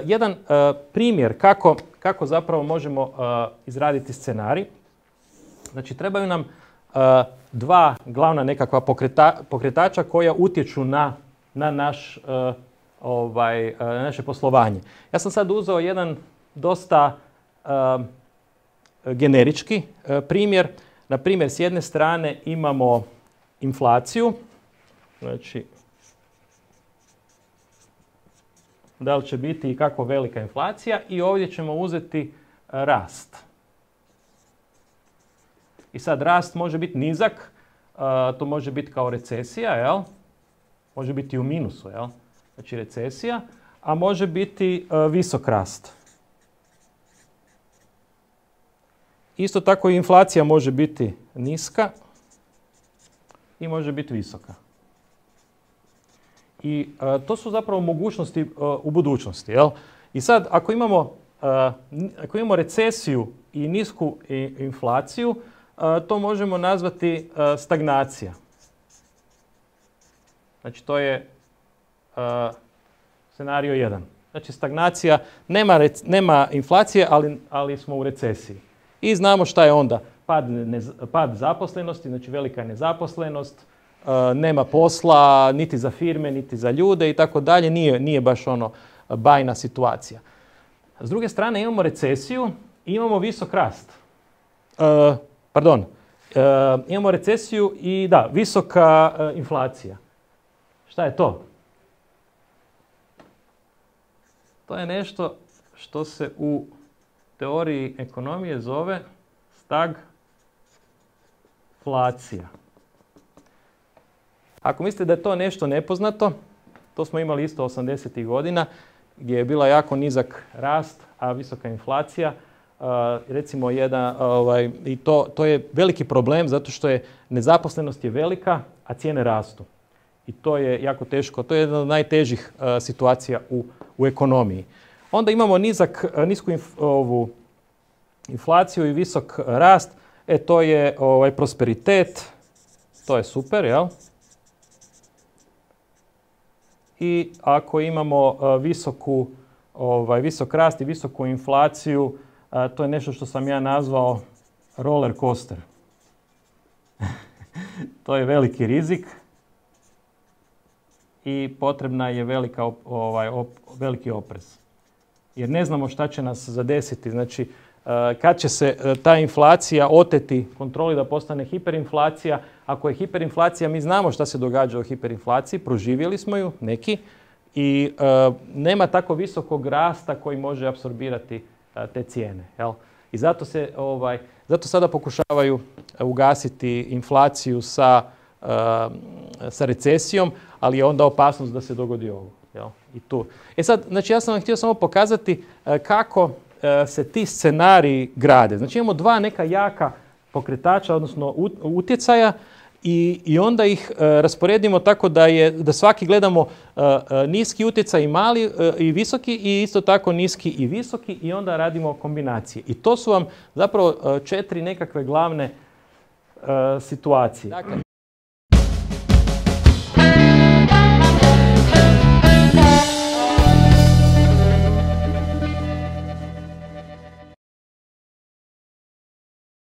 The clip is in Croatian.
jedan primjer kako zapravo možemo izraditi scenarij. Znači, trebaju nam dva glavna nekakva pokretača koja utječu na naše poslovanje. Ja sam sad uzeo jedan dosta generički primjer. Na primjer, s jedne strane imamo inflaciju. Znači, da li će biti i kako velika inflacija, i ovdje ćemo uzeti rast. I sad rast može biti nizak, to može biti kao recesija, jel? Može biti u minusu, jel? Znači recesija, a može biti visok rast. Isto tako i inflacija može biti niska i može biti visoka. I to su zapravo mogućnosti u budućnosti, jel? I sad ako imamo recesiju i nisku inflaciju, to možemo nazvati stagnacija. Znači to je scenario 1. Znači stagnacija, nema inflacije, ali smo u recesiji. I znamo šta je onda. Pad zaposlenosti, znači velika nezaposlenost, nema posla niti za firme, niti za ljude i tako dalje. Nije baš ono bajna situacija. S druge strane imamo recesiju i imamo visok rast. Imamo recesiju i visoka inflacija. Šta je to? To je nešto što se u teoriji ekonomije zove stagflacija. Ako mislite da je to nešto nepoznato, to smo imali isto 80-ih godina, gdje je bila jako nizak rast, a visoka inflacija. Recimo i to je veliki problem zato što je nezaposlenost je velika, a cijene rastu. I to je jako teško. To je jedna od najtežih situacija u ekonomiji. Onda imamo nisku inflaciju i visok rast. To je prosperitet. To je super, jel? I ako imamo visok rast i visoku inflaciju, to je nešto što sam ja nazvao roller coaster. To je veliki rizik i potrebna je veliki oprez. Jer ne znamo šta će nas zadesiti. Znači, kad će se ta inflacija oteti kontroli da postane hiperinflacija. Ako je hiperinflacija, mi znamo šta se događa u hiperinflaciji, proživjeli smo ju neki i nema tako visokog rasta koji može apsorbirati te cijene. Jel? I zato sada pokušavaju ugasiti inflaciju sa recesijom, ali je onda opasnost da se dogodi ovo. Jel? I tu. Sad, znači ja sam vam htio samo pokazati kako se ti scenariji grade. Znači imamo dva neka jaka pokretača, odnosno utjecaja, i onda ih rasporedimo tako da svaki gledamo niski utjecaj i mali i visoki, i isto tako niski i visoki, i onda radimo kombinacije. I to su vam zapravo 4 nekakve glavne situacije. Dakle,